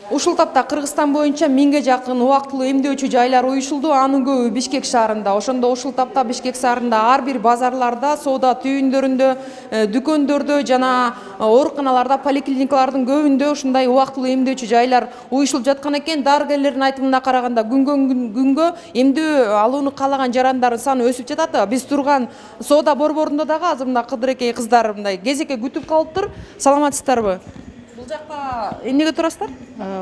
Ушул тапта Кыргызстан боюнча 1000ге жакын убактылуу эмдөөчү жайлар уюшулду, анын көбү Бишкек шаарында. Ошондо ушул тапта Бишкек шаарында ар бир базарларда, соода түйүндөрүндө, дүкөндөрдө жана ооруканаларда, поликлиникалардын көбүндө ушундай убактылуу эмдөөчү жайлар уюшулуп жаткан экен. Дарыгерлердин айтымына караганда күнгөн күнгө эмдөө алууну каалаган жарандардын саны өсүп жатат. Биз турган соода борборунда дагы азыр мына кыдырекей кыздар мындай кезекке күтүп калыптыр. Саламатсыздарбы? Бул жакка эмнеге турасыздар?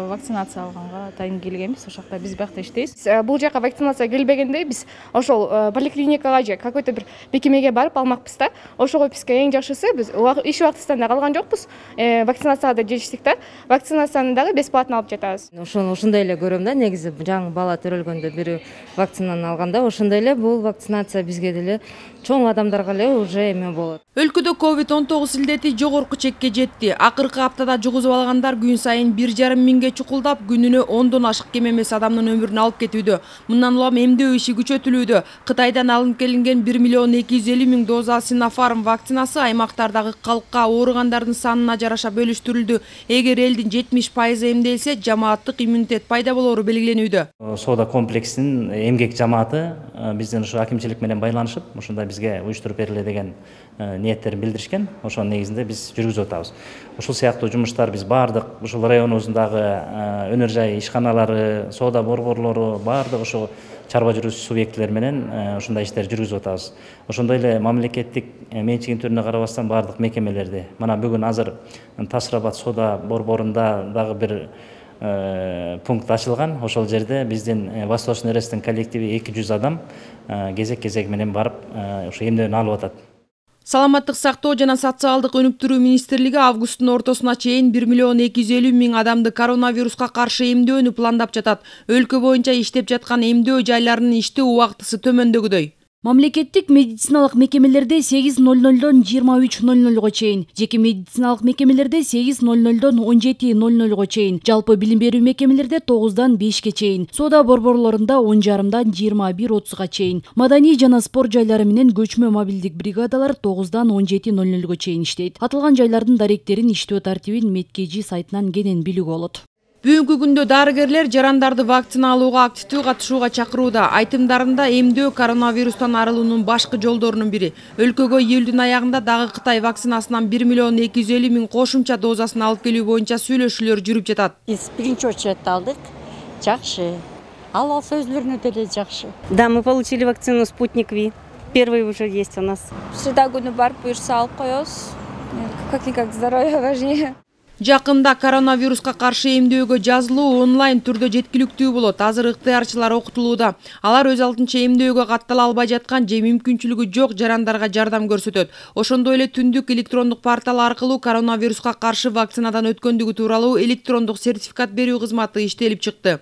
Вакцинация алганга дайын келгенбиз. Ошол жакта биз биякта иштейбиз. Бул жакка вакцинация келбегенде биз ошол поликлиникага же какой-то бир бекемеге барып алмакпыз да. Ошого бизге эң жакшысы биз иш убактыбыздан да калган жокпуз. Вакцинацияга да жетиштик да. Вакцинацияны дагы бесплатно алып жатабыз. Ошондой эле көрөм да, негизи жаңы бала төрөлгөндө бирөө вакцинаны алганда ошондой эле бул вакцинация бизге деле чоң адамдарга эле уже эме болот. Өлкөдө COVID-19 илдети жогорку чекке жетти. Акыркы аптада жугузуп алгандар күн сайын 1,5 миңге чукулдап, күнүнө 10дон ашык кем эмес адамдын өмүрүн алып кетүүдө. Мындан улам эмдөө иши күчөтүлүүдө. Кытайдан алынып келинген 1,250,000 доза Sinopharm вакцинасы аймактардагы калкка ооругандардын санына жараша бөлүштүрүлдү. Эгер элдин 70% эмделсе, жамааттык иммунитет пайда болору белгиленүүдө. Соода комплексинин эмгек жамааты биздин ушу акимчилик менен байланышып, ушундай бизге уюштуруп бериле деген ниеттерин билдиришкен. Ошонун негизинде биз жүргүзүп атабыз. Ушул сыяктуу жумуштар биз баардык ушул районубуздагы өнөр жай ишканалары, соода борборлору, баардык ушул чарба жүргүзүү субъектилер менен ушундай иштерди жүргүзүп атабыз. Ошондой эле мамлекеттик менчигин түрүнө карабастан баардык мекемелерди, мына бүгүн азыр Ташрабат соода борборунда дагы бир пункт ачылган. Ошол жерде биздин Восточный РСтин коллективи 200 адам кезек менен барып ушу эмдөөнү алып атат. Саламаттык сактоо жана социалдык өнүктүрүү министрлиги августтун ортосуна чейин 1,250,000 адамды коронавируска каршы эмдөөнү пландап жатат. Өлкө боюнча иштеп жаткан эмдөө жайларынын иштөө убактысы төмөндөгүдөй. Мамлекеттик медициналык мекемелерде 8:00дон 23:00 чейин, жеке медициналык мекемелерде 8:00дон 17:00 чейин, жалпы билим берүү мекемелерде 9-дан 5-ке чейин, соода борборлорунда 10:30-дан 21:30 чейин, маданий жана спорт жайлары менен көчмө мобилдик бригадалар 9-дан 17:00 чейин иштейт. Аталган жайлардын даректерин, иштөө тартибин Медкежи сайтынан кенен билүүгө болот. Бүгүнкү күндө дарыгерлер жарандарды вакцина алууга активдүү катышууга чакырууда. Айтымдарында эмдөө коронавирустан арылуунун башкы жолдорунун бири. Өлкөгө июлдун аягында дагы Кытай вакцинасынан 1,250,000 кошумча дозасын алып келүү боюнча сүйлөшүүлөр жүрүп жатат. Биз биринчи очередде алдык. Жакшы. Алса өзлөрүнө деле жакшы. Да, мы получили вакцину Спутник Ви. Первый уже есть у нас. Среда күнү барып буюрса алып коебуз. Как-никак здоровье важнее. Жакында коронавируска каршы эмдөөгө жазылуу онлайн түрдө жеткиликтүү болот. Азыр ыктыярчылар окутулууда. Алар өз алдынча эмдөөгө каттала албай жаткан же мүмкүнчүлүгү жок жарандарга жардам көрсөтөт. Ошондой эле түндүк электрондук портал аркылуу коронавируска каршы вакцинадан өткөндүгү тууралуу электрондук сертификат берүү кызматы иштелип чыкты.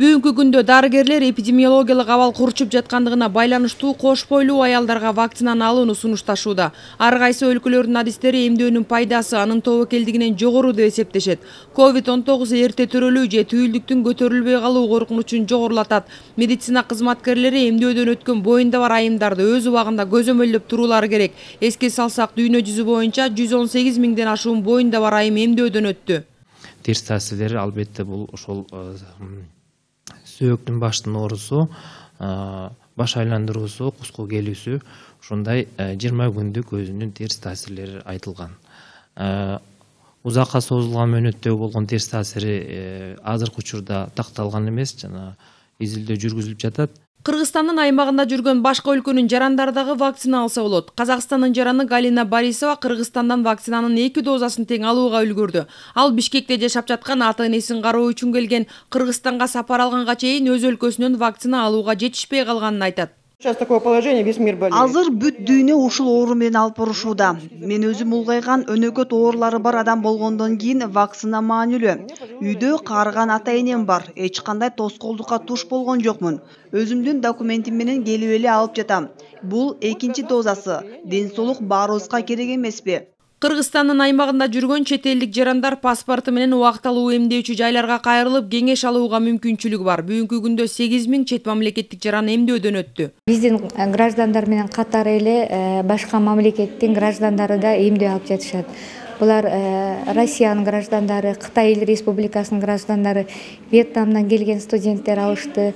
Бүгүнкү күндө дарыгерлер эпидемиологиялык абал курчуп жаткандыгына байланыштуу кош бойлуу аялдарга вакцинаны алууну сунушташууда. Ар кайсы өлкөлөрдүн адистери эмдөөнүн пайдасы анын тобокелдигинен жогору деп эсептешет. COVID-19 эрте төрөлүү же түйүлдүктүн көтөрүлбөй калуу коркунучун жогорулатат. Медицина кызматкерлери эмдөөдөн өткөн боюнда бар айымдарды өз убагында көзөмөлдөп туруулары керек. Эске салсак, дүйнө жүзү боюнча 118 миңден ашуун боюнда бар айым эмдөөдөн өттү. Терс таасирлери албетте бул ошол сөөктүн баштын оорусу, баш айландыруусу, куску келүүсү, ушундай 20 күндүк өзүнүн терс таасирлери айтылган. Узакка созулган мөөнөттөгү болгон терс таасири азыркы учурда такталган эмес, жана изилдөө жүргүзүлүп жатат. Кыргызстандын аймагында жүргөн башка өлкөнүн жарандары дагы вакцина алса болот. Казакстандын жараны Галина Борисова Кыргызстандан вакцинанын 2 дозасын тең алууга үлгүрдү. Ал Бишкекте жашап жаткан ата-энесин кароо үчүн келген. Кыргызстанга сапар алганга чейин өз өлкөсүнөн вакцина алууга жетишпей калганын айтат. Азыр бүт дүйнө ушул оору менен алып барышууда. Мен өзүм улгайган өнөкөт оорулары бар адам болгондон кийин вакцина маанилүү. Үйдө каарыган ата-энем бар. Эч кандай тоскоолдукка туш болгон жокмун. Өзүмдүн документим менен келип эле алып жатам. Бул экинчи дозасы. Ден соолук баарыбызга керек эмеспи? Кыргызстандын аймагында жүргөн чет элдик жарандар паспорту менен убактылуу эмдөөчү жайларга кайрылып кеңеш алууга мүмкүнчүлүгү бар. Бүгүнкү күндө 8000 чет мамлекеттик жаран эмдөөдөн өттү. Биздин граждандар менен катары эле башка мамлекеттин граждандары да эмдөө алып жатышат. Булар Россиянын граждандары, Кытай Республикасынын граждандары, Вьетнамдан келген студенттер алышты.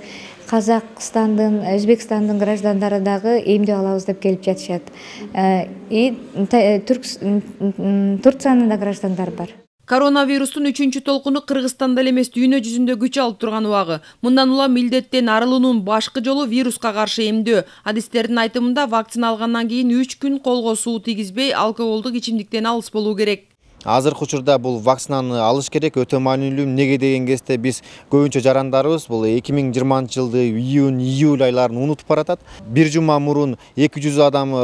Казакстандын, Өзбекстандын граждандары дагы эмдөө алабыз деп келип жатышат. Турциянын да граждандары бар. Коронавирустун 3-чү толкуну Кыргызстанда эле эмес дүйнө жүзүндө күч алып турган убагы. Мындан улам илдеттен арылуунун башкы жолу вируска каршы эмдөө. Адистердин айтымында вакцина алгандан кийин 3 күн колго суу тийгизбей, алкоголдук ичимдиктен алыс болуу керек. Азыркы учурда бул вакцинаны алыш керек, өтө маанилүү. Неге деген кезде биз көбүнчө жарандарыбыз бул 2020-жылды июнь-июль айларын унутуп баратат. Бир жума мурун 200 адам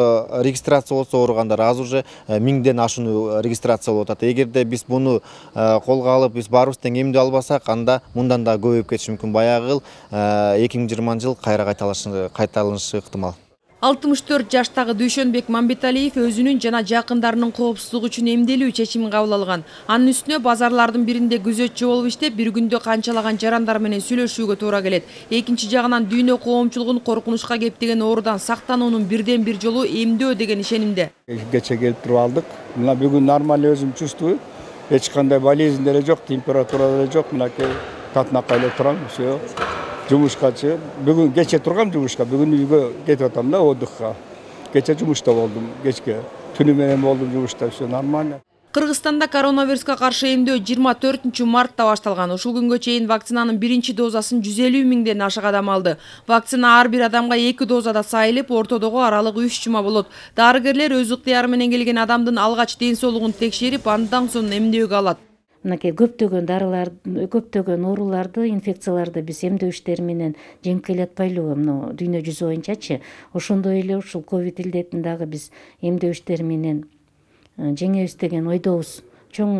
регистрация болсо ооругандар, азыр уже 1000ден ашуун регистрация болуп атат. Эгерде биз буну колго алып, биз баарыбыз тең эмдөө албасак, анда мындан да көбөйүп кетиши мүмкүн. Баягы 2020-жыл кайра кайталанышы ыктымал. 64 жаштагы Дүйшөнбек Мамбеталиев өзүнүн жана жакындарынын коопсуздугу үчүн эмделүү чечимин кабыл алган. Анын үстүнө базарлардын биринде күзөтчү болуп иштеп, бир күндө канчалаган жарандар менен сүйлөшүүгө туура келет. Экинчи жагынан дүйнө коомчулугун коркунучка кептеген оорудан сактануунун бирден бир жолу эмдөө деген ишенимде. Кече келип туруп алдык. Мына бүгүн нормально өзүм чувствую. Эч кандай болезнь деле жок, температура деле жок. Мынакей татынакка эле турам, все. Жумушка бүгүн кече тургам жумушка, бүгүн үйгө кетип атам да отдыхка. Кече жумушта болдум, кечке. Түнү менен болдум жумушта, все нормально. Кыргызстанда коронавируска каршы эмдөө 24-мартта башталган. Ушул күнгө чейин вакцинанын биринчи дозасын 150 миңден ашык адам алды. Вакцина ар бир адамга 2 дозада сайылып, ортодогу аралык 3 жума болот. Дарыгерлер өз ыктыяры менен келген адамдын алгач ден соолугун текшерип, андан соң эмдөөгө алат. Мынакей көптөгөн дарылар, көптөгөн ооруларды, инфекцияларды биз эмдөө иштери менен жеңип келатпайлыбы, мына дүйнө жүзү боюнчачы. Ошондой эле ушул ковид илдетин дагы биз эмдөө иштери менен жеңебиз деген ойдобуз. Чоң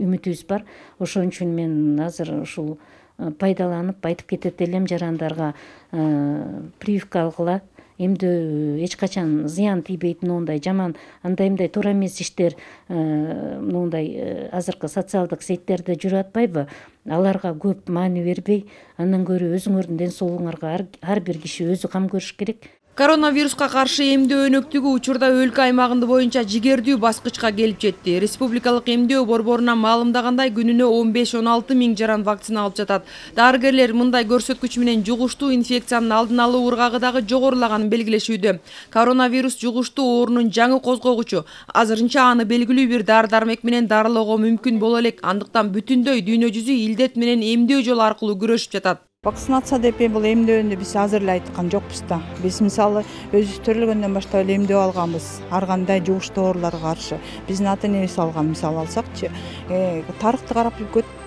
үмүтүбүз бар. Ошон үчүн мен азыр ушул пайдаланып айтып кетет элем жарандарга, прививка алгыла. Эмдөө эч качан зыян тийбейт, мындай жаман, андай туура эмес иштер, мындай азыркы социалдык сеттерде жүрүп атпайбы? Аларга көп маани бербей, андан көрө өзүңөрдүн ден соолугуңарга ар бир киши өзү кам көрүш керек. Коронавируска каршы эмдөө өнөктүгү учурда өлкө аймагында боюнча жигердүү баскычка келип жетти. Республикалык эмдөө борборунан маалымдагандай, күнүнө 15-16 миң жаран вакцина алып жатат. Дарыгерлер мындай көрсөткүч менен жугуштуу инфекциянын алдын алуу ыргагы дагы жогорулаганын белгилешүүдө. Коронавирус жугуштуу оорунун жаңы козгогучу. Азырынча аны белгилүү бир дары-дармек менен дарылоого мүмкүн боло элек. Андыктан бүтүндөй дүйнө жүзү илдет менен эмдөө жолу аркылуу күрөшүп жатат. Вакцинация деп бул эмдөөндү биз азыр эле айткан жокпуз да. Биз мисалы өзүбүз төрөлгөндөн баштап эле эмдөө алганбыз. Ар кандай жугуштуу ооруларга каршы. Биздин ата-энебиз алган мисал алсакчы, тарыхты карап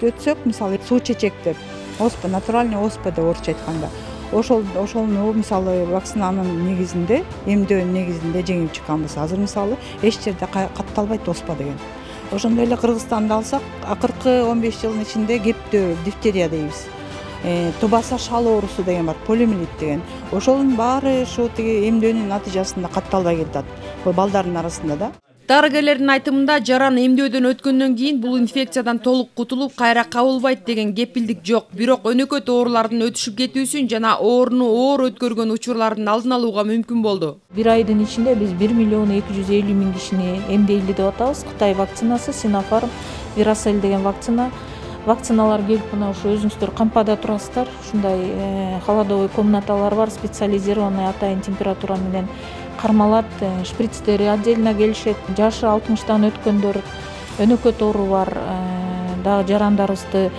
өтсөк, мисалы суу чечек деп, оспа, натуральный оспа деп орусча айтканда. Ошолну мисалы вакцинанын негизинде, эмдөөнүн негизинде жеңип чыкканбыз. Азыр мисалы эч жерде катталбайт оспа деген. Ошондой эле Кыргызстанды алсак, акыркы 15 жылдын ичинде кептөө, дифтерия дейбиз. Тубаса шал оорусу деген бар, полиомиелит деген. Ошонун баары ушу тиги эмдөөнүн натыйжасында катталбай келатат. Бул балдардын арасында да. Дарыгерлердин айтымында жаран эмдөөдөн өткөндөн кийин бул инфекциядан толук кутулуп, кайра кабылбайт деген кепилдик жок. Бирок өнөкөт оорулардын өтүшүп кетүүсүн жана ооруну оор өткөргөн учурлардын алдын алууга мүмкүн болду. Бир айдын ичинде биз 1 миллион 250 миң кишини эмдейли деп атабыз. Кытай вакцинасы, Sinopharm, Viracell деген вакциналар келип, мына ушу өзүңүздөр кампада турасыздар. Ушундай холодовой комнаталар бар, специализированный атайын температура менен кармалат, шприцтери отдельно келишет. Жашы 60-тан өткөндөр, өнөкөт оору бар дагы жарандарыбызды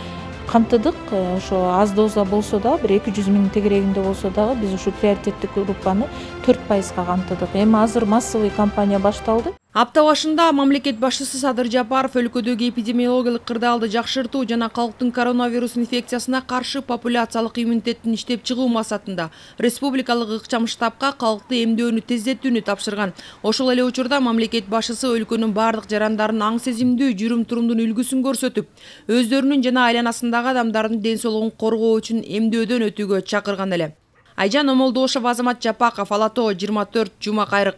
камтыдык. Ошо аз доза болсо да, бир 200 миң тегерегинде болсо дагы биз ушу приоритеттик группаны 4%га камтыдык. Эми азыр массовый кампания башталды. Апта башында мамлекет башчысы Садыр Жапаров өлкөдөгү эпидемиологиялык кырдаалды жакшыртуу жана калктын коронавирус инфекциясына каршы популяциялык иммунитеттин иштеп чыгуу максатында республикалык ыкчам штабка калкты эмдөөнү тездетүүнү тапшырган. Ошол эле учурда мамлекет башчысы өлкөнүн бардык жарандарын аң сезимдүү жүрүм-турумдун үлгүсүн көрсөтүп, өздөрүнүн жана айланасындагы адамдардын ден соолугун коргоо үчүн эмдөөдөн өтүүгө чакырган эле. Айжан Омолдошова, Азамат Жапаков, Ала Тоо 24, Жума Кайрык.